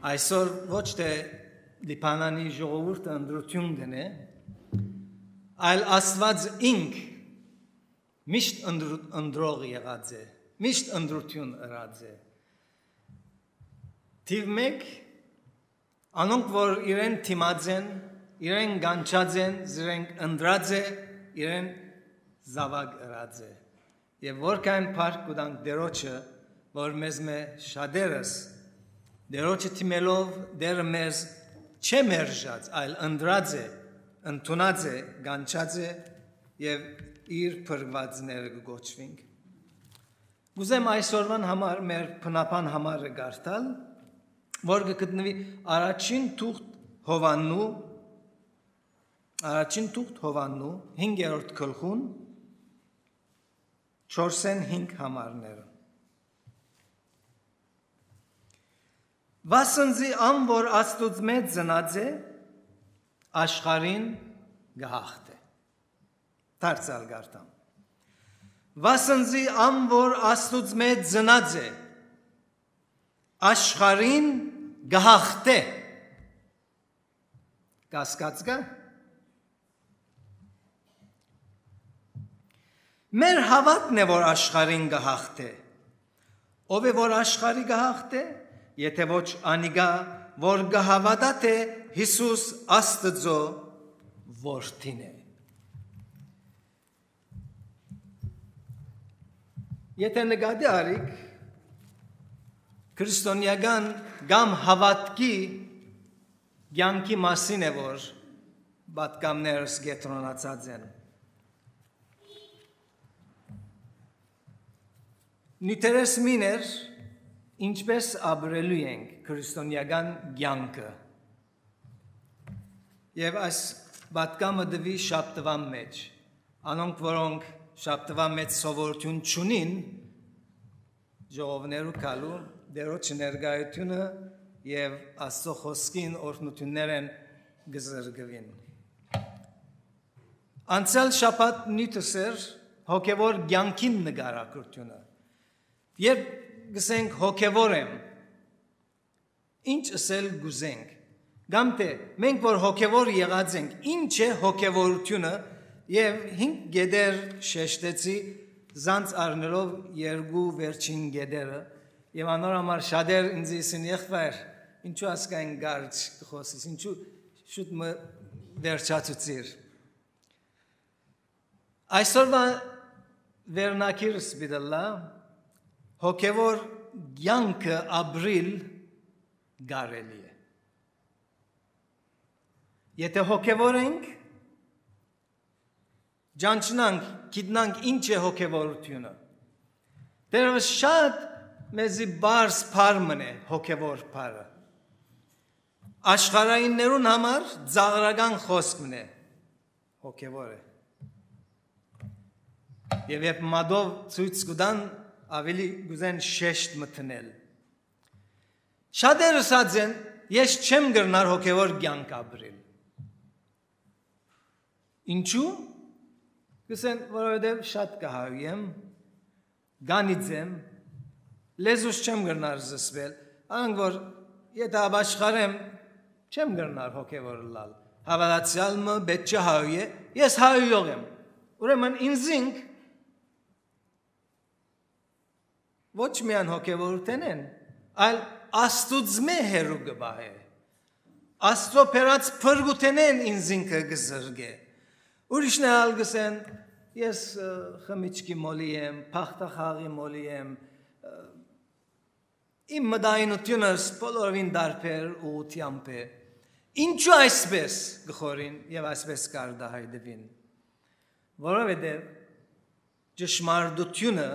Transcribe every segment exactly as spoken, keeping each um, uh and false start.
Այսօր ոչ թէ Լիբանանի ժողովուրդը ընտրութիւն կ'ընէ, այլ Աստուած ինք միշտ ընտրու-, ընտրող եղած է, միշտ ընտրութիւն ըրած է։ Թիւ մէկ, անոնք որ իրեն դիմած են, իրեն կանչած են, զիրենք ընտրած է, իրեն զաւակ ըրած է։ Եւ որքան փառք կու տանք Տերոջը, որ մեզմէ շատերս Տերոջը դիմելով Տէրը մեզ չէ մերժած, այլ ընտրած է, ընդունած է, կանչած է եւ իր փրկուածները կը կոչուինք։ Կ'ուզեմ այսօրուան համար, մեր բնաբան համարը կարդալ, որ կը գտնուի առաջին թուղթ Յովհաննու, առաջին թուղթ Յովհաննու հինգերորդ գլխուն, չորսէն հինգ համարները։ Վասն զի ան որ Աստուծմէ ծնած է, աշխարհին կը յաղթէ։ Դարձ ալ կարդամ։ Վասն զի ան որ Աստուծմէ ծնած է, աշխարհին կը յաղթէ։ Կասկած կա։ Մեր հաւատն է որ աշխարհին կը յաղթէ։ Ով է որ աշխարհի կը յաղթէ, եթէ ոչ անիկա, որ կը հաւատայ թէ Յիսուս Աստուծոյ որդին է։ Եթէ նկատի առիք, քրիստոնեական կամ հաւատքի կեանքի մասին է որ պատգամներս կեդրոնացած են։ Նիւթերս մին էր, ինչպէս ապրելու ենք քրիստոնեական կեանքը։ Եւ այս պատգամը տուի շաբթուան մէջ։ Անոնք որոնք շաբթուան մէջ սովորութիւն չունին, ժողովներու քալու, Տերոջը ներկայութիւնը եւ Աստուծոյ խօսքին օրհնութիւններէն կը զրկուին։ Անցեալ շաբաթ նիւթս էր հոգեւոր կեանքին նկարագրութիւնը։ Երբ կ'ըսենք հոգեւոր եմ, ինչ ըսել կ'ուզենք, կամ թէ մենք որ հոգեւոր եղած ենք, ինչ է հոգեւորութիւնը, եւ հինգ կետեր շեշտեցի, զանց առնելով երկու վերջին կետերը, եւ անոր համար շատեր ինձ ըսին. «Եղբայր, ինչու ասկայն կարճ կը խօսիս, ինչու շուտ մը վերջացուցիր»։ Այսօրվա վերնագիրս պիտի ըլլայ. հոգեւոր կեանքը ապրիլ կարելի է։ Եթէ հոգեւոր ենք, ճանչնանք, գիտնանք ինչ է հոգեվորութիւնը։ Դեռեւս շատ մեզի պարզ բառ մըն է հոգեվոր բառը։ Աշխարհայիններուն համար ծաղրական խօսք մըն է, հոգեվոր է։ Եւ երբ մատով ցոյց կու տան, աւելի կ'ուզեն շեշտ մտնել։ Շատեր ըսած են. «Ես չեմ կրնար հոգեվոր կեանք ապրիլ»։ Ինչու՞։ Կ'ըսեն, որովհետեւ շատ կը հայհոյեմ, գանից եմ, լեզուս չեմ կրնար զսպել, անոնք որ եթէ ապաշխարեմ, չեմ կրնար հոգեվոր ըլլալ։ Հաւատացեալ մը պէտք չէ հայհոյե, ես հայհոյող եմ։ Ուրեմն ինզինք ոչ միայն հոգեվորութենէն, այլ Աստուծմէ հեռու կը պահէ։ Աստուծոյ բերած փրկութենէն ինզինքը կը զրկէ։ Ուրիշներ ալ կ'ըսեն, ես, ը, խմիչքի մոլի եմ, փախտախաղի մոլի եմ, ը, իմ մտայնությունս բոլորովին տարբեր ուղղութեամբ է։ Ինչու այսպես կը խորին եւ այսպես կարտահայտուին։ Որովհետեւ ճշմարտությունը,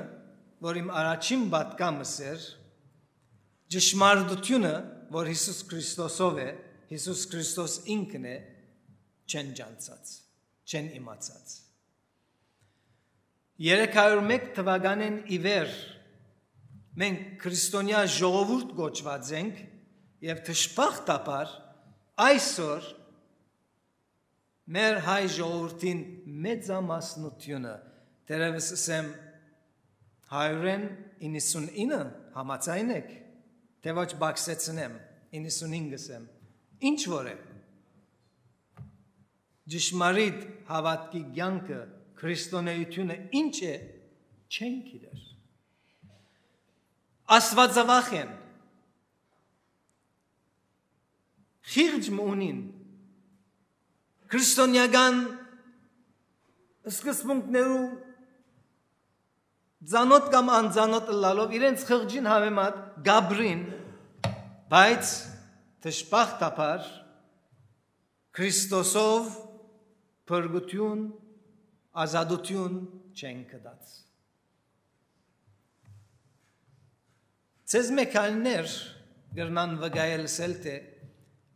որ իմ առաջին պատգամս էր, ճշմարտությունը, որ Յիսուս Քրիստոսով է, Յիսուս Քրիստոս ինքն է, չեն ճանչցած, չեն իմացած։ Երեք հարիւր մէկ թուականէն ի վեր Մենք քրիստոնեայ ժողովուրդ կոչուած ենք եւ դժբախտաբար այսօր մեր հայ ժողովուրդին մեծամասնութիւնը, դեռեւս ըսեմ, հարիւրէն իննսունինը, համաձայն եք, թէ ոչ պակսեցնեմ, իննսունհինգ ըսեմ, ինչ որ է, ճշմարիտ հաւատքի կեանքը, քրիստոնէութիւնը ինչ է, չեն գիտեր։ Աստուածավախ են, խիղճ մը ունին, քրիստոնեական սկզբունքներու ծանօթ կամ անծանօթ ըլլալով իրենց խղճին համեմատ կ'ապրին, բայց դժբախտաբար Քրիստոսով փրկութիւն, ազատութիւն չեն գտած։ Ձեզմէ քայլներ կրնան վկայել, ըսել թէ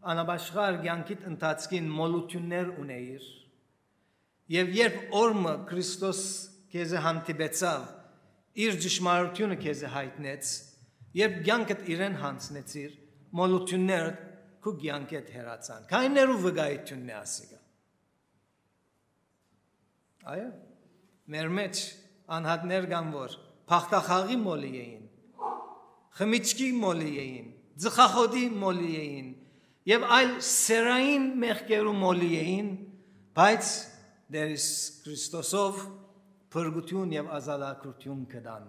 անապաշխար կեանքիդ ընթացքին մոլութիւններ ունէիր, եւ երբ օր մը Քրիստոս քեզի հանդիպեցաւ, իր ճշմարութիւնը քեզի յայտնեց, երբ կեանքդ իրեն յանձնեցիր, մոլութիւններդ քու կեանքէդ հեռացան։ Քայլներու վկայութիւնն է ասիկա։ Այո, մեր մէջ անհատներ կան, որ բախտախաղի մոլի էին, խմիչքի մոլի էին, ծխախոտի մոլի էին եւ այլ սեռային մեղքերու մոլի էին, բայց Տեր Յիսուս Քրիստոսով փրկութիւն եւ ազատագրութիւն կտան։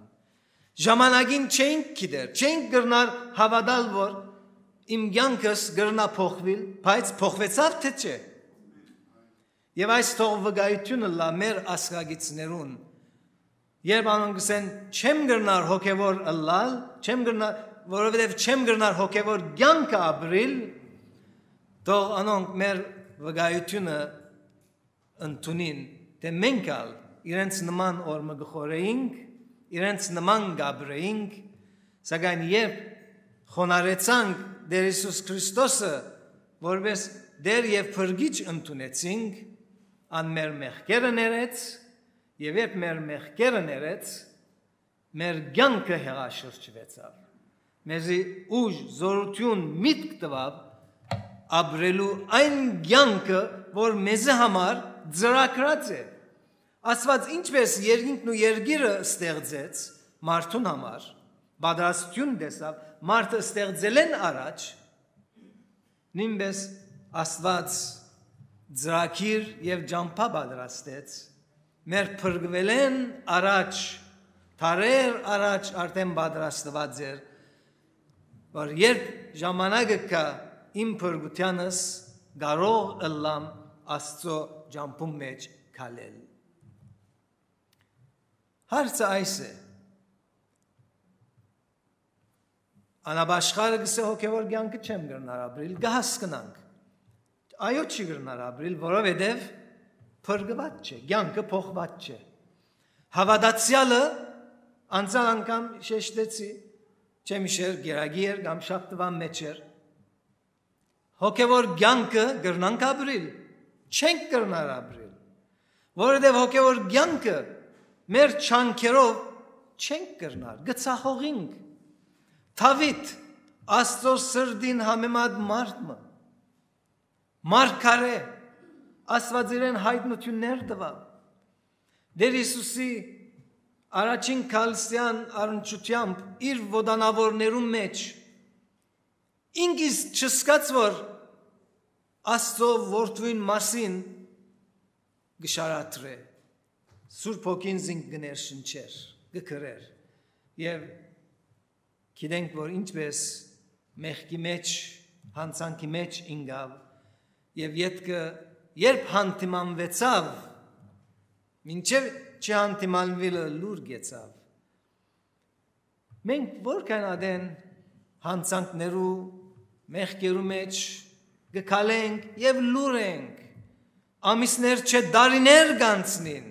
Ժամանակին չենք գիտեր, չենք կրնար հաւատալ, որ իմ կեանքս կրնայ փոխուիլ, բայց փոխուեցաւ թէ չէ։ Եւ այս թող վկայութիւնը ըլլայ մեր ազգակիցներուն, երբ անոնք կ'ըսեն. «Չեմ կրնար հոգեւոր ըլլալ, չեմ կրնար, որովհետեւ չեմ կրնար հոգեւոր կեանքը ապրիլ», թող անոնք մեր վկայութիւնը ընդունին, թէ մենք ալ իրենց նման օր մը կը խորհէինք, իրենց նման կ'ապրէինք, սակայն երբ խոնարհեցանք Տեր Յիսուս Քրիստոսը որպէս Տէր եւ Փրկիչ ընդունեցինք, ան մեր մեղքերը ներեց, եւ երբ մեր մեղքերը ներեց, մեր կեանքը հեղաշրջուեցաւ։ Մեզի ուժ, զօրութիւն, միտք տուաւ ապրելու այն կեանքը, որ մեզի համար ծրագրած է։ Աստուած ինչպէս երկինքն ու երկիրը ստեղծեց մարդուն համար, պատրաստութիւն տեսաւ մարդը ստեղծելէն առաջ, նոյնպէս Աստուած ծրագիր եւ ճամբայ պատրաստեց, մեր փրկուելէն առաջ, դարեր առաջ արդէն պատրաստուած էր, որ երբ ժամանակը գայ իմ փրկութեանս, կարող ըլլամ Աստուծոյ ճամբուն մէջ քալել։ Հարցը այս է. անապաշխարը կ'ըսէ. «Հոգեւոր կեանքը չեմ կրնար ապրիլ», կը հասկնանք։ Այո, չի կրնար ապրիլ, որովհետեւ փրկուած չէ, կեանքը փոխուած չէ։ Հաւատացեալը, անցյալ անգամ շեշտեցի, չեմ իշեր, կերակի էր կամ շաբթուան մէջ էր, հոգեւոր կեանքը կրնանք ապրիլ, չենք կրնար ապրիլ, որովհետեւ հոգեւոր կեանքը մեր չանքերով չենք կրնար, կը ցախողինք։ Դաւիթ, Աստուծոյ սրտին համեմատ մարդ մը, մարգարէ, Աստուած իրեն յայտնութիւններ տուաւ։ Տեր Յիսուսի առաջին գալստեան առնչութեամբ իր ոտանաւորներուն մէջ ինք իսկ չզգաց, որ Աստուծոյ որդւոյն մասին կը շարադրէ, Սուրբ Հոգին զինք կը ներշնչէր, կը կրէր։ Եւ գիտենք, որ ինչպէս մեղքի մէջ, յանցանքի մէջ ինկաւ, եւ ետքը երբ հանդիմանուեցաւ, մինչեւ չհանդիմանուիլը լուր գեցաւ։ Մենք որքան ատեն յանցանքներու, մեղքերու մէջ կը քալենք եւ լուր ենք, ամիսներ չէ, տարիներ կ'անցնին,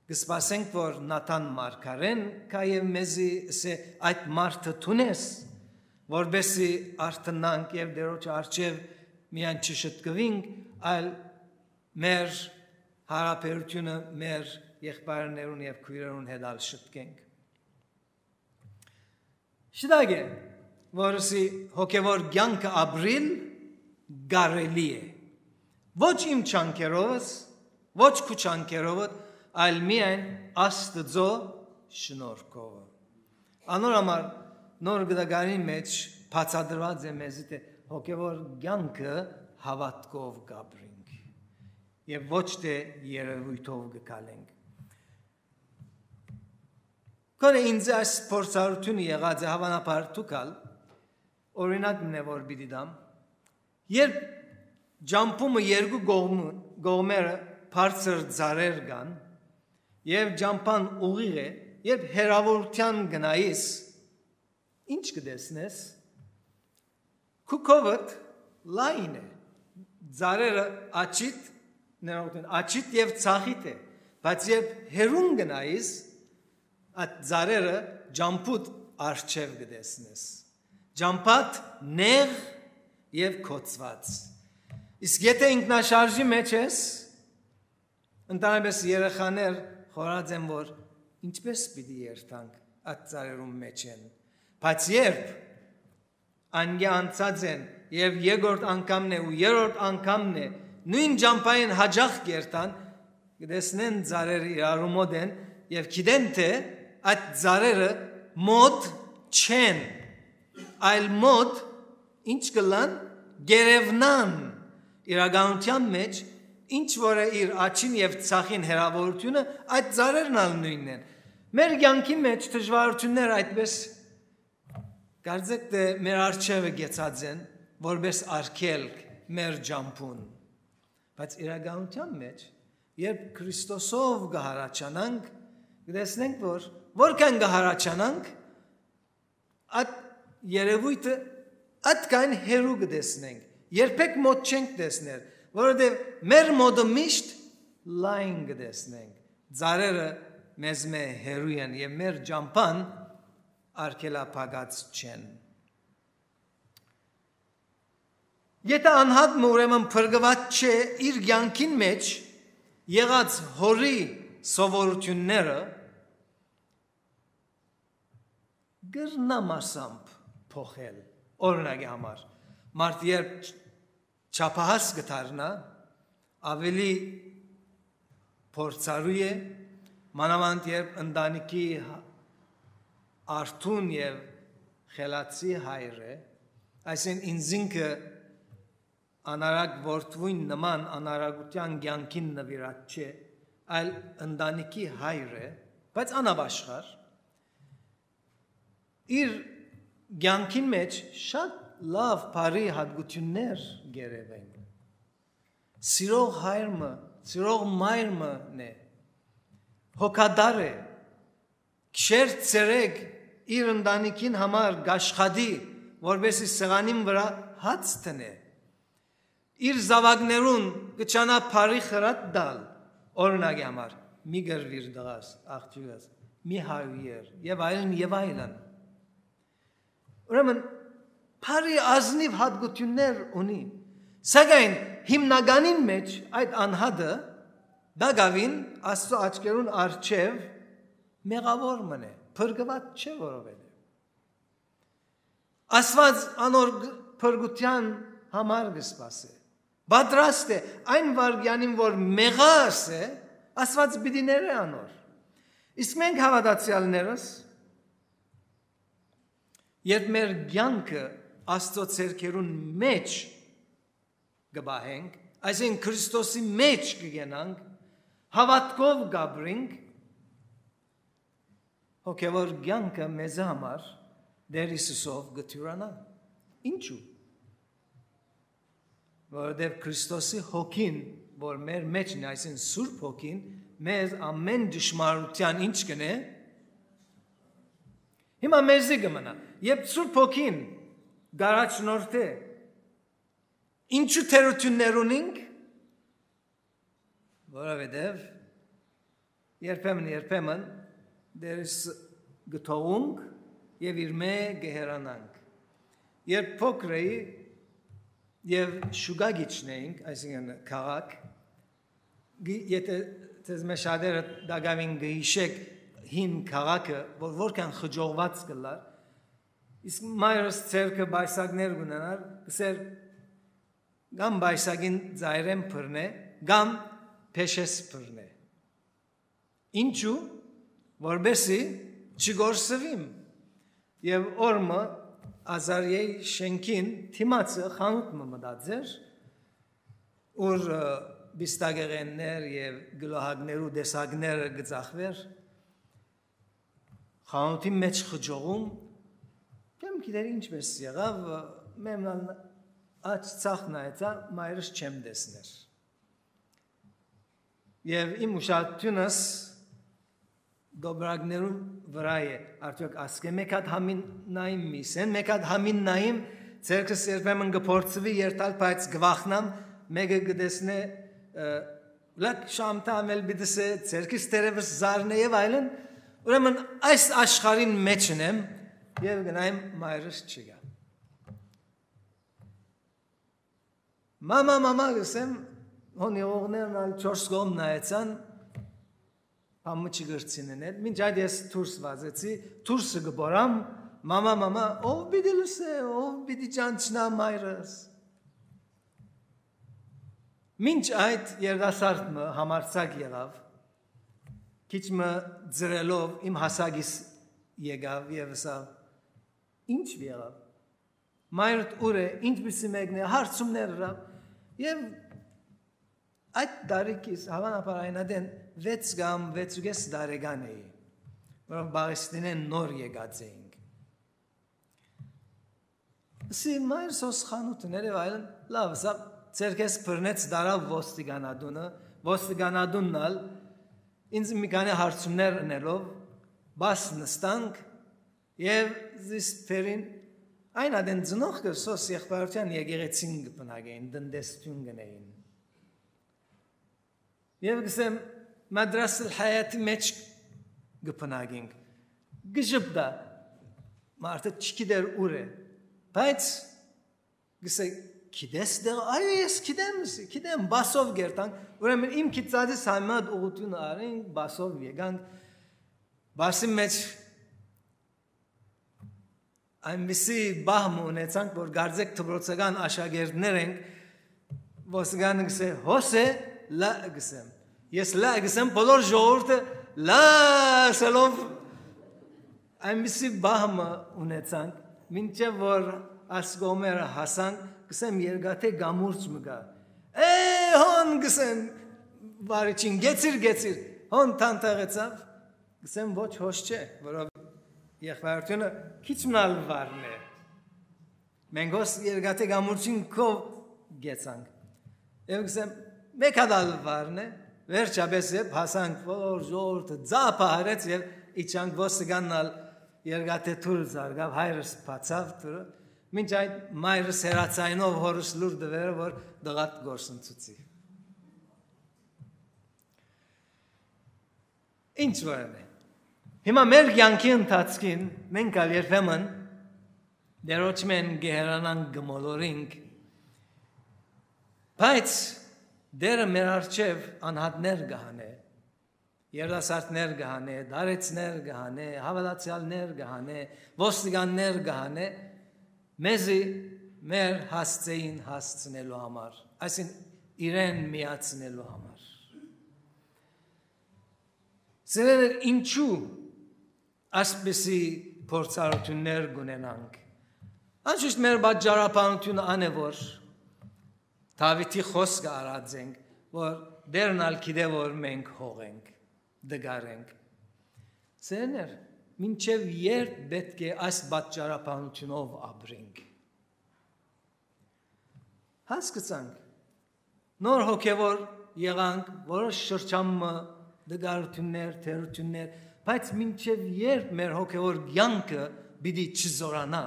կը սպասենք, որ Նաթան մարգարէն գայ եւ մեզի ըսէ. «Այդ մարդը դո՞ւն ես», որպէսզի արթնանք եւ Տիրոջ առջեւ միայն չշտկուինք, այլ մեր յարաբերութիւնը մեր եղբայրներուն եւ քոյրերուն հետ ալ շտկենք։ Չտայ է, որ ըսի հոգեվոր կեանքը ապրիլ կարելի է։ Ոչ իմ չանքերովս, ոչ քու չանքերովդ, այլ միայն Աստուծոյ շնորհքովը։ Անոր համար Նոր Գտակարին մէջ բացատրուած է մեզի, թէ հոգեվոր կեանքը հաւատքով կապրինք եւ ոչ թէ երեւոյթով կը քալենք։ Քոնը ինձ այս փորձառութիւնը եղած է, հաւանաբար դուք ալ, օրինակ մնե որ պիտի տամ, երբ ճամբումը երկու կողմը, կողմերը բարձր ծառեր կան եւ ճամբան ուղիղ է, երբ հեռաւորութեան գնայիս, ինչ կը տեսնես։ Քու քովդ լայն է, ծառերը աչիդ, ներողություն, աչիդ եւ ցախիդ է, բայց երբ հեռուն գնայիս, այդ ծառերը ճամբուտ արջեւ կը տեսնես, ճամբատ նեղ եւ կոծված։ Իսկ եթե ինքնաշարժի մեջ ես, ընդհանրապես երեխաներ խորած են, որ ինչպես պիտի երթանք այդ ծառերուն մեջ են, բայց երբ անկէ անցած են եւ երկրորդ անգամն է ու երրորդ անգամն է նոյն ճամբային հաճախ կ'երթան, կը տեսնեն ծառերը իրարու մօտ են եւ գիտեն թէ այդ ծառերը մօտ չեն, այլ մօտ ինչ կ'ըլլան, կ'երեւնան իրականութեան մէջ, ինչ որ է իր աչին եւ ցախին հեռաւորութիւնը, այդ ծառերն ալ նոյնն են։ Մեր կեանքի մէջ դժուարութիւններ այդպես կարծեք թէ մեր առջեւը կեցած են, որպէս արգելք մեր ճամբուն։ Բայց իրականութեան մէջ, երբ Քրիստոսով կը հառաչանանք, կտեսնենք, որ որքան կը հառաչանանք, այդ երևոյթը այդքան հեռու կտեսնենք, երբեք մօտ չենք տեսներ, որովհետեւ մեր մօտը միշտ լայն կտեսնենք, ծառերը մեզմէ հեռու են եւ մեր ճամբան արգելափակած չեն։ Եթէ անհատ մը ուրեմն փրկուած չէ իր կեանքին մէջ եղած հորի սովորութիւնները, կրնայ մասամբ փոխել։ Օրինակի համար, մարդ երբ չափահաս կը դառնայ, աւելի փորձառու է, մանաւանդ երբ ընտանիքի արթուն եւ խելացի հայր է, այսինքն ինքզինքը անարակ որդւոյն նման անարակութեան կեանքին նուիրած չէ, այլ ընտանիքի հայր է, բայց անապաշխար, իր կեանքին մէջ շատ լաւ բարի հատկութիւններ կ'երեւեն։ Սիրող հայր մը, սիրող մայր մը է, հոգատար է, քշեր ցերեկ իր ընտանիքին համար կ'աշխատի, որպէսզի սեղանին վրայ հաց դնէ։ Իր զաւակներուն կը ջանայ բարի խրատ տալ, օրինակի համար, մի կռուիր տղաս, աղջիկս, մի հայուեր, եւ այլն, եւ այլն։ Ուրեմն, բարի ազնիւ հատկութիւններ ունի, սակայն հիմնականին մէջ այդ անհատը տակաւին Աստուծոյ աչքերուն առջեւ մեղաւոր մը է, փրկուած չէ, որովհետեւ Աստուած անոր ג-, փրկութեան համար կը սպասէ։ Պատրաստ է այն վայրկեանին, որ մեղա ըսէ, Աստուած պիտի ներէ անոր։ Իսկ մենք հաւատացեալներս, երբ մեր կեանքը Աստուծոյ ձեռքերուն մէջ կը պահենք, այսինքն Քրիստոսի մէջ կը գնանք, հաւատքով կ'ապրինք, հոգեւոր կեանքը մեզի համար Տեր Հիսուսով կը թիւրանայ։ Ինչու՞։ Որովհետեւ Քրիստոսի հոգին, որ մեր մէջն է, այսինքն Սուրբ Հոգին, մեզ ամէն ճշմարտութեան ինչ կ'ընէ, հիմա մեզի կը մնայ։ Երբ Սուրբ Հոգին կ'առաջնորդէ, ինչու թերութիւններ ունինք, որովհետեւ երբեմն, երբեմն Տեր Հիսուսը կը թողունք եւ իրմէ կը հեռանանք։ Երբ փոքր էի եւ շուկա գիչն էինք, այսինքն քաղաք, գի-, եթէ ձեզմէ շատերը տակաւին կը յիշէք հին քաղաքը, որ որքան խճողված կ'ըլլար, Իսկ մայրս ձեռքը պայսակներ կ'ունենար, կ'ըսէր, կամ պայսակին ծայրէն բռնէ, կամ փեշէս բռնէ։ Ինչու՞, որպեսզի չկորսուիմ։ Եւ օր մը Ազարիայի շէնքին դիմացը խանութ մը մտած էր, ուր, ը, պիստակեղէններ եւ գլուհակներու տեսակները կը ծախուէր, խանութին մէջ խճողում, չեմ գիտեր ինչպէս եղաւ, մեմնան աջ ցախ նայեցայ, մայրս չեմ տեսներ։ Եւ իմ ուշադրութիւնս դոբրակներուն վրայ է, արդեօք ասկէ մէկ հատ համին նայիմ, միսեն մէկ հատ համին նայիմ, ձեռքս երբեմն կը փորձուի երթալ, բայց կը վախնամ, մէկը կը տեսնէ, ը, լաք շամթա ամել պիտի սե, ձեռքս թերեւս զարնէ եւ այլն, ուրեմն այս աշխարհին մէջն եմ եւ գնայեմ մայրս չկայ։ «Մամա, մամա», կ'ըսեմ, հոն եղողներն ալ չորս կողմ նայեցան, բան մը չկրցին էն, մինչ այդ ես դուրս վազեցի, դուրսը կը բորամ, «Մամա, մամա», ո՞վ պիտի լսէ, ո՞վ պիտի ճանչնայ մայրս։ Մինչ այդ երիտասարդ մը համարձակ եղաւ, քիչ մը ծռելով իմ հասակիս եկաւ եւ ըսաւ. «Ի՞նչ եղաւ։ Մայրդ ո՞ւր է, ինչպիսի մեկն է», հարցումներ ըրաւ։ Եւ այդ տարիքիս, հաւանաբար այն ատեն վեց կամ վեց ու կես տարեկան էի, որով Պաղեստինէն նոր եկած էինք։ Սի մայր սոս խանութ ուներ եւ այլն, լաւ, սա ձեր քեզ բռնեց, դարաւ ոստիկանատունը, ոստիկանատունն ալ ինձ մի քանի հարցումներ ընելով, բաս նստանք եւ զիս թերին այն ատեն ծնողքը սոս եղբայրութեան եկեղեցին կը բնակեին, տնտեսություն կ'ընէին։ Եւ կ'ըսեմ, Մադրասել Հայաթի մէջ կը բնակենք։ Կը ժպտայ, մարդը չգիտեր ուր է, բայց կ'ըսէ, «Գիտես դեղը»։ «Այո, ես գիտեմ, ըսի, գիտեմ», բասով կերտանք, ուրեմն իմ գիտածիս համեմատ ուղղութիւնը առինք, բասով եկանք, բասի մէջ այնպիսի պահ մը ունեցանք, որ կարծեք դպրոցական աշակերտներ ենք, ոստիկանը կ'ըսէ, «Հոս է», «Լա», կ'ըսեմ։ Ես «Լա» կ'ըսեմ, բոլոր ժողովուրդը «Լա» ասելով, այնպիսի պահ մը ունեցանք, մինչեւ որ այս կողմերը հասանք, կ'ըսեմ, երկաթե կամուրջ մը կայ։ «Է, հոն», կ'ըսեմ, վարիչին, «գեցիր, գեցիր», հոն թանթաղեցաւ, կ'ըսեմ, «Ոչ, հոս չէ», որով եղբայրութիւնը քիչ մը ալ վարն է։ Մենք հոս երկաթե կամուրջին քով գեցանք։ Եւ կ'ըսեմ, մէկ հատ ալ վարն է, վերջապէս երբ հասանք, որ ժողովուրդը ձապ ահարեց եւ իջանք, ոստիկանն ալ երկաթե թուր զարգաւ, հայրս բացաւ թուրը, մինչ այդ մայրս հեռաձայնով հորս լուր տուեր, որ տղատ գործընծուցի։ Ինչ որ է։ Հիմա մեր կյանքի ընթացքին մենք ալ երբեմն Տերոջմէն կը հեռանանք, կը մոլորինք, բայց Տերը մեր առջեւ անհատներ կը հանէ, երիտասարդներ կը հանէ, դարեցներ կը հանէ, հաւատացեալներ կը հանէ, ոստիկաններ կը հանէ, մեզի մեր հասցէին հասցնելու համար, այսինքն իրեն միացնելու համար։ Սիրելիներ, ինչու այսպիսի փորձառութիւններ կ'ունենանք։ Անշուշտ մեր պատճառաբանությունը ան է, որ Դաւիթի խօսքը առած ենք, որ Տերն ալ գիտէ, որ մենք հող ենք, տկար ենք։ Սիրելիներ, մինչեւ երբ պէտք է այս պատճառաբանությունով ապրենք։ Հասկցանք, նոր հոգեւոր եղանք, որոշ շրջան մը, տկարութիւններ, թերութիւններ, բայց մինչեւ երբ մեր հոգեւոր կեանքը պիտի չզօրանայ,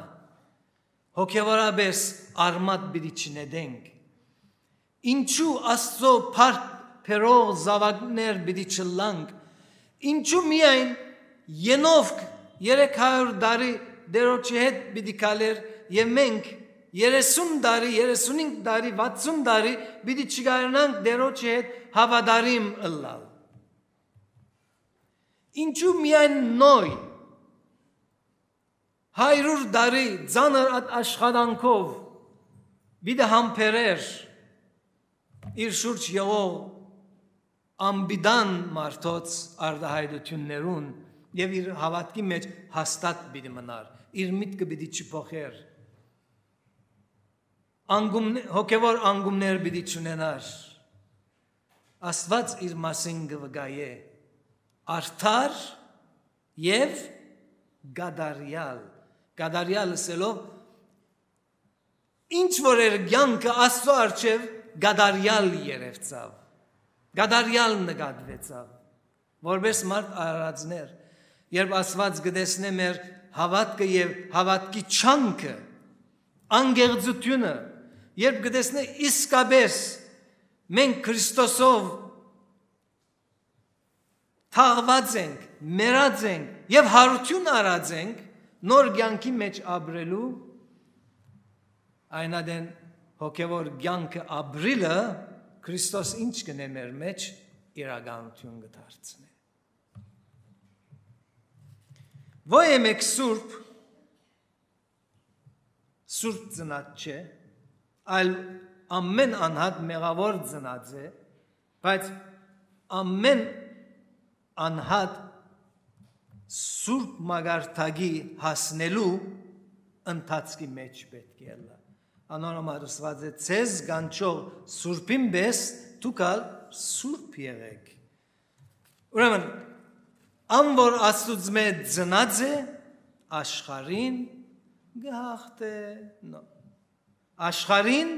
հոգեւորապէս արմատ պիտի չնետենք, ինչու Աստծո փառք բերող զաւակներ պիտի չըլլանք, ինչու միայն Ենովք երեք հարիւր տարի Տերոջի հետ պիտի քալէր եւ մենք երեսուն տարի, երեսունհինգ տարի, վաթսուն տարի պիտի չկարենանք Տերոջի հետ հաւատարիմ ըլլալ։ Ինչու միայն Նոյ Հարիւր տարի ծանր ատ աշխատանքով պիտի համբերէր իր շուրջ եղող անպիտան մարդոց արտայայտութիւններուն եւ իր հաւատքի մէջ հաստատ պիտի մնար, իր միտքը պիտի չփոխէր, անկում-, հոգեւոր անկումներ պիտի չունենար։ Աստուած իր մասին կը վկայէ արդար եւ կատարեալ։ Կատարեալ ըսելով, ինչ որ էր կեանքը Աստուծոյ առջեւ, կատարեալ երեւցաւ, կատարեալ նկատուեցաւ, որպես մարդ արարածներ, երբ Աստուած կը տեսնէ մեր հաւատքը եւ հաւատքի չանքը, անկեղծութիւնը, երբ կը տեսնէ իսկապես մենք Քրիստոսով թաղուած ենք, մեռած ենք եւ յարութիւն առած ենք, նոր կեանքի մէջ ապրելու, այն ատեն հոգեւոր կեանքը ապրիլը Քրիստոս ինչ կ'ընէ մեր մէջ, իրականութիւն կը դարձնէ։ Ոյ է մէկ սուրբ, սուրբ ծնած չէ, այլ ամէն անհատ մեղաւոր ծնած է, բայց ամէն անհատ սուրբ մակարդակի հասնելու ընթացքի մէջ պէտք է ըլլայ։ Անոր համար ըսուած է. «Ձեզ կանչող սուրբին պէս դուք ալ սուրբ եղէք»։ Ուրեմն, ան որ Աստուծմէ ծնած է, աշխարհին կը հաղթէ, նո, աշխարհին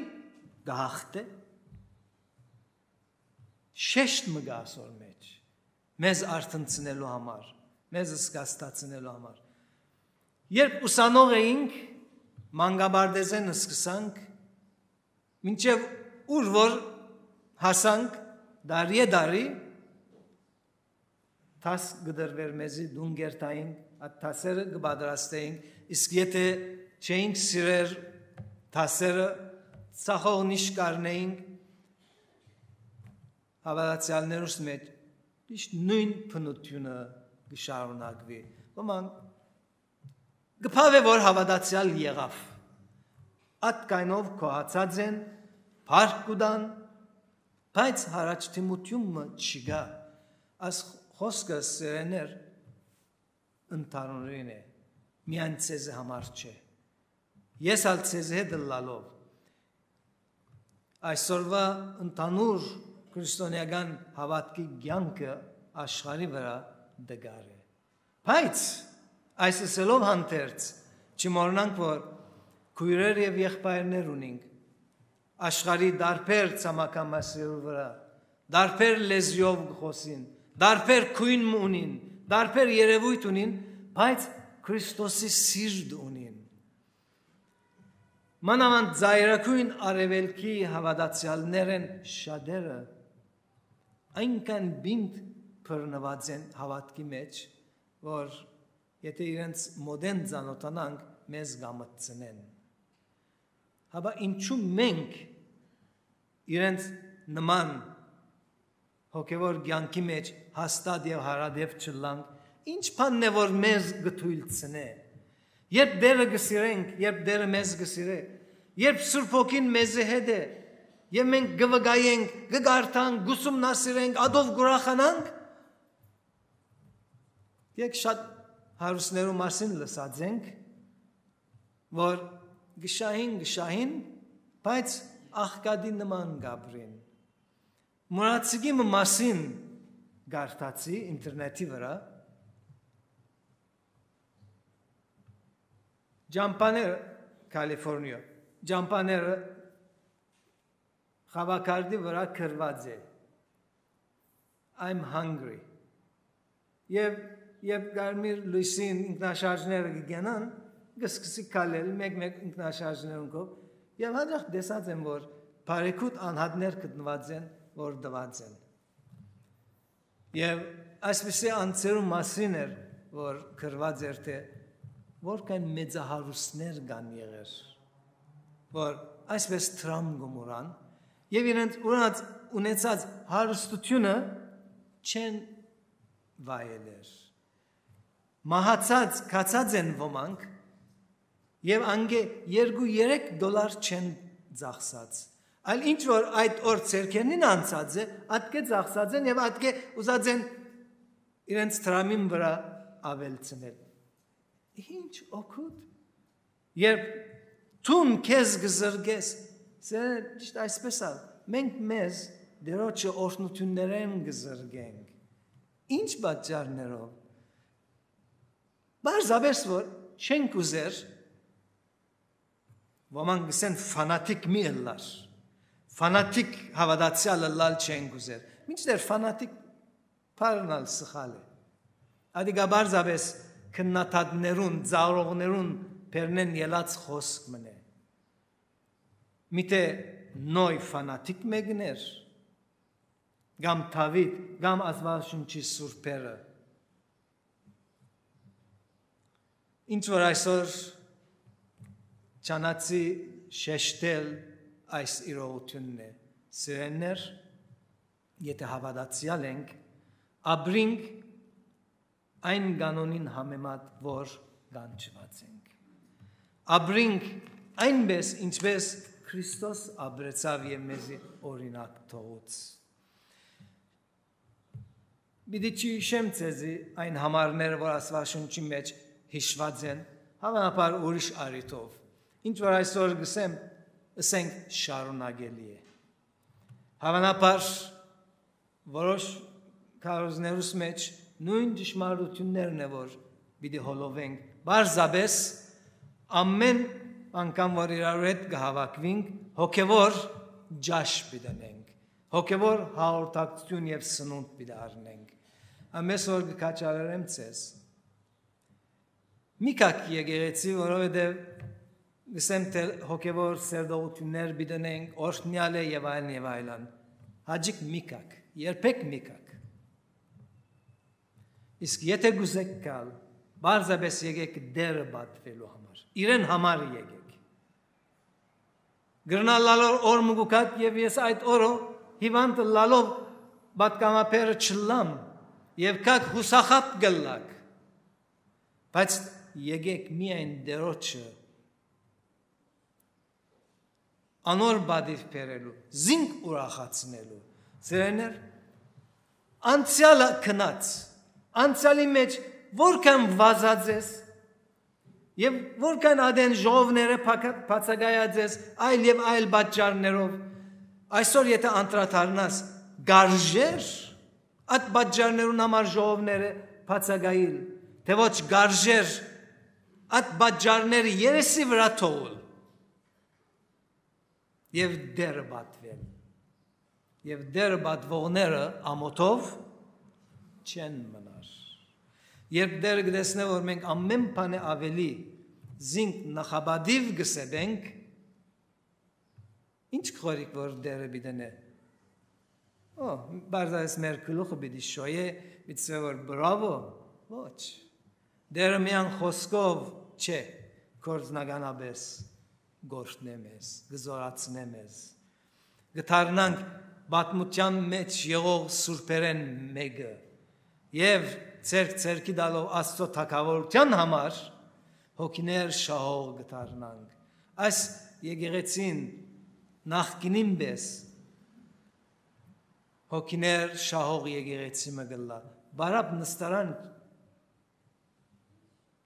կը հաղթէ։ Շեշտ մը կայ ասոր մէջ, մեզ արթնցնելու համար, մեզ զգաստացնելու համար։ Երբ ուսանող էինք, մանկապարտէզէն սկսանք, մինչեւ ուր որ հասանք, տարիէ տարի դաս կը տրուէր մեզի, տուն կ'երթայինք, այդ դասերը կը պատրաստէինք, իսկ եթէ չէինք սիրեր դասերը, ծախողնիշ կ'առնէինք, հաւատացեալներուս մէջ միշտ նոյն բնութիւնը կը շարունակուի։ Ոմանք կը բաւէ, որ հաւատացեալ եղաւ։ Ատկայնով գոհացած են, փառք կու տան, բայց յառաջդիմութիւն մը չկայ։ Այս խօսքը, սիրելիներ, ընդհանուրին է, միայն ձեզի համար չէ։ Ես ալ ձեզի հետ ըլլալով, այսօրուայ ընդհանուր քրիստոնեական հաւատքի կեանքը աշխարհի վրայ տկար է։ Բայց այս ըսելով հանդերձ, չմոռնանք, որ քոյրեր եւ եղբայրներ ունինք աշխարհի տարբեր ցամաքամասերու վրայ, տարբեր լեզուով կը խօսին, տարբեր գոյն մը ունին, տարբեր երեւոյթ ունին, բայց Քրիստոսի սիրտ ունին։ Մանաւանդ ծայրագոյն արեւելքի հաւատացեալներէն շատերը այնքան պինդ բռնուած են հաւատքի մէջ, որ եթէ իրենց մօտէն ծանօթանանք, մեզ կամտցնեն։ Հապա ինչու մենք իրենց նման հոգեւոր կեանքի մէջ հաստատ եւ հարատեւ չըլլանք, ի՞նչ բանն է, որ մեզ կը թոյլցնէ։ Երբ Տէրը կը սիրենք, երբ Տէրը մեզ կը սիրէ, երբ Սուրբ Հոգին մեզի հետ է, եւ մենք կը վկայենք, կը կարդանք, կ'ուսումնասիրենք, ատով կ'ուրախանանք, եկ շատ հարուստներու մասին լսած ենք, որ կը շահին, կը շահին, բայց աղքատի նման կ'ապրին։ Մուրացիկի մը մասին կարդացի ինտերնետի վրայ, ճամբաները, Կալիֆորնիա, ճամբաները խաւակարդի վրայ գրուած է, "I'm hungry"։ Եւ երբ կարմիր լոյսին ինքնաշարժները կը գնան, կը սկսի քալել, մեկ-մեկ ինքնաշարժներուն կով, եւ հաճախ տեսած եմ, որ բարեգութ անհատներ գտնուած են, որ տուած են։ Եւ այսպիսի անձերու մասին էր, որ գրուած էր, թէ որքան մեծահարուստներ կան եղեր, որ այսպես դրամ կը մուրան եւ իրենց ունած, ունեցած հարստությունը չեն վայելեր։ Մահացած, գացած են ոմանք, Եւ անգէ երկու երեք դոլար չեն ծախսած։ Այլ ինչ որ այդ օր ձեռքերնին անցած է, ատկէ ծախսած են եւ ատկէ ուզած են իրենց դրամին վրայ աւելցնել։ Ինչ օգուտ։ Երբ դուն քեզ կը զրկես, սիրելիներ, ճիշտ այսպես ալ, մենք մեզ Տիրոջը օրհնութիւններէն կը զրկենք։ Ինչ պատճառներով։ Պարզապէս որ չենք ուզեր, ոմանք կ'ըսեն, ֆանատիկ մի ըլլար, ֆանատիկ հաւատացեալ ըլլալ չենք ուզեր։ Մինչդեռ ֆանատիկ բառն ալ սխալ է։ Ատիկա պարզապէս քննադատներուն, ծաղրողներուն բերնէն ելած խօսք մըն է։ Միթէ Նոյ ֆանատիկ մէկն էր, կամ Դաւիթ, կամ Աստուածաշունչի սուրբերը։ Ինչ որ այսօր չանացի շեշտել, այս իրողութիւնն է, սիրելիներ, եթե հաւատացեալ ենք, ապրինք այն կանոնին համեմատ, որ կանչուած ենք։ Ապրինք այնպէս, ինչպէս Քրիստոս ապրեցաւ եւ մեզի օրինակ թողուց։ Պիտի չյիշեմ ձեզի այն համարները, որ Աստուածաշունչի մէջ յիշուած են, հաւանաբար ուրիշ առիթով։ Ինչ որ այսօր կ'ըսեմ, ըսենք, շարունակելի է։ Հաւանաբար որոշ քարոզներուս մէջ նոյն ճշմարտութիւններն է, որ պիտի հոլովենք։ Պարզապէս ամէն անգամ, որ իրարու հետ կը հաւաքուինք, հոգեւոր ճաշ պիտի ընենք, հոգեւոր հաղորդակցութիւն եւ սնունդ պիտի առնենք։ Ամէս որ կը քաջալերեմ ձեզ։ Մի գաք եկեղեցի, որովհետեւ կ'ըսեմ, թէ հոգեւոր սերտողութիւններ պիտի ընենք, օրհնեալ է եւ այլն եւ այլն։ Հաճիկ մի գաք, երբեք մի գաք։ Իսկ եթե կ'ուզեք գալ, պարզապէս եկեք Տէրը պատուելու համար, իրեն համար եկեք։ Կրնալ ալոր օր մը կու գաք եւ ես այդ օրը հիվանդ ըլլալով պատգամաբերը չըլլամ եւ գաք յուսախաբ կ'ըլլաք, բայց եկեք միայն Տիրոջը, անոր պատիւ բերելու, զինք ուրախացնելու։ Սիրելիներ, անցեալը գնաց, անցեալի մէջ որքան վազած ես եւ որքան ատեն ժողովները փակա-, բացակայած ես, այլ եւ այլ պատճառներով, այսօր եթե անդրադառնաս, գարժեր այդ պատճառներուն համար ժողովները բացակայիլ, թէ ոչ գարժեր այդ պատճառները երեսի վրայ թողուլ եւ Տէրը պատուել։ Եւ Տէրը պատուողները ամօթով չեն մնար։ Երբ Տէրը կտեսնէ, որ մենք ամէն բանէ աւելի զինք նախապատիւ կը սեպենք, ինչ կ'խորհիք, որ Տէրը պիտի ընէ։ Օ, պարզապէս մեր գլուխը պիտի շոյէ, պիտի սէ որ բրավո, ոչ։ Տէրը միան խօսքով չէ, գործնականապէս կ'օրհնէ մեզ, կը զօրացնէ մեզ։ Կը դառնանք պատմութեան մէջ եղող սուրբերէն մէկը եւ ձեռք ձեռքի տալով Աստծո թագաւորութեան համար հոգիներ շահող կը դառնանք։ Այս եկեղեցին նախկինին պէս հոգիներ շահող եկեղեցի մը կ'ըլլայ։ Բարապ նստարան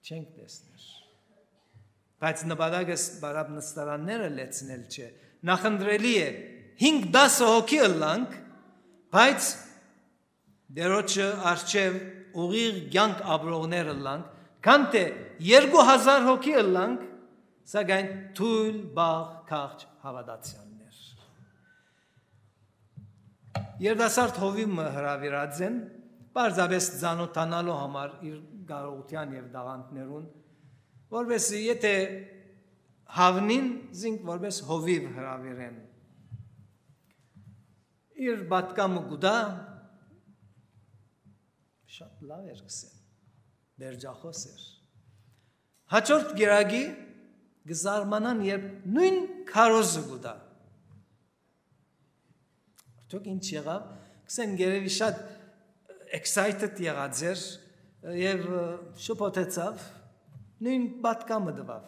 չենք տեսներ։ Բայց նպատակս բարապ նստարանները լեցնել չէ։ Նախընտրելի է հինգ տասը հոգի ըլլանք, բայց Տիրոջը առջեւ ուղիղ կեանք ապրողներ ըլլանք, քան թէ երկու հազար հոգի ըլլանք, սակայն թոյլ, բաղ, քաղջ հաւատացեալներ։ Երիտասարդ հովիւ մը հրաւիրած են, պարզապէս ծանօթանալու համար իր կարողութեան եւ տաղանդներուն, որպէս զի եթե հաւնին, զինք որպէս հովիւ հրաւիրեն։ Իր պատկամը կու տայ, շատ լավ էր, կ'ըսեն, բերջախօս էր։ Հաջորդ կերակի կը զարմանան, երբ նոյն քարոզը կու տայ։ Արդյոք ինչ եղաւ։ Կ'ըսեն, երեւի շատ excited եղած էր եւ, ը, շփոթեցաւ, նոյն պատկամը տուաւ։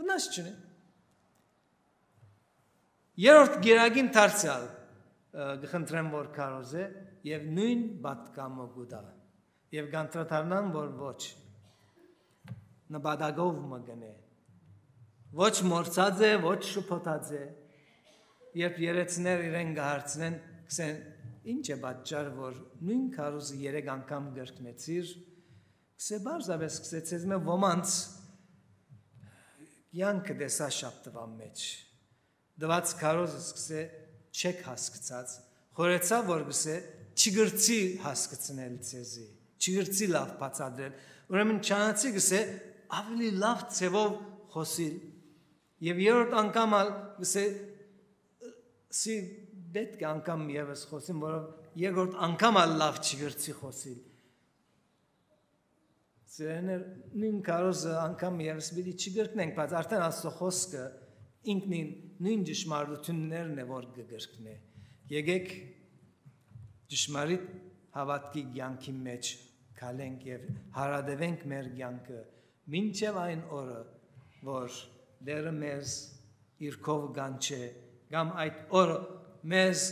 Մնաց չունի։ Երրորդ գերագին դարձեալ կը խնդրեմ որ քարոզէ, եւ նոյն պատկամը կու տայ։ Եւ կանդրադառնան որ ոչ, նպատակով մը կ'ընէ, ոչ մոռցած է, ոչ շփոթած է։ Երբ երեցներ իրեն կը հարցնեն, կ'ըսեն, ինչ է պատճառ որ նոյն քարոզը երեք անգամ կրկնեցիր, կ'ըսէ, պարզապէս կ'ըսէ, ձեզմէ ոմանց կեանքը տեսայ շաբթուան մէջ, տուած քարոզս կ'ըսէ, չեք հասկցած, խորհեցայ որ կ'ըսէ, չի կրցի հասկցնել ձեզի, չի կրցի լաւ բացատրել, ուրեմն չանացի կ'ըսէ, ավելի լաւ ձեւով խօսիլ։ Եւ երրորդ անգամ ալ կ'ըսէ, սի պետք է անգամ եւս խօսիմ, որովհետեւ երկրորդ անգամ ալ լաւ չի կրցի խօսիլ։ Սիրելիներ, նոյն քարոզը անգամ եւս պիտի չկրկնենք, բայց արդեն Աստուծոյ խօսքը ինքնին նոյն ճշմարտութիւններն է որ կը կրկնէ։ Եկէք ճշմարիտ հաւատքի կեանքի մէջ քալենք եւ յարատեւենք մեր կեանքը մինչեւ այն օրը որ Տէրը մեզ իր քով կանչէ, կամ այդ օրը մեզ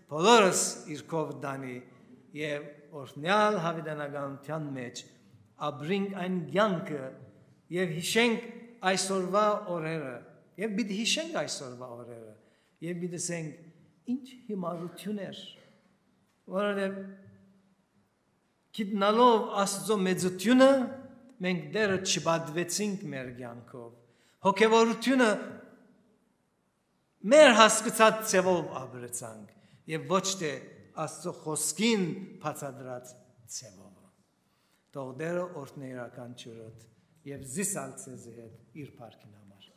բոլորս իր քով տանի եւ օրհնեալ յաւիտենականութեան մէջ ապրինք այն կեանքը եւ յիշենք այսօրվա օրերը, եւ պիտի յիշենք այսօրվա օրերը, եւ պիտի ասենք, ինչ հիմարութիւն էր, որովհետեւ գիտնալով Աստուծոյ մեծութիւնը, մենք Տէրը չպատուեցինք մեր կեանքով, հոգեւորութիւնը մեր հասկցած ձեւով ապրեցանք եւ ոչ թէ Աստուծոյ խօսքին բացատրած ձեւով։ Թող Տէրը օրհնէ իւրաքանչիւրդ եւ զիս ալ ձեզի հետ իր փառքին համար։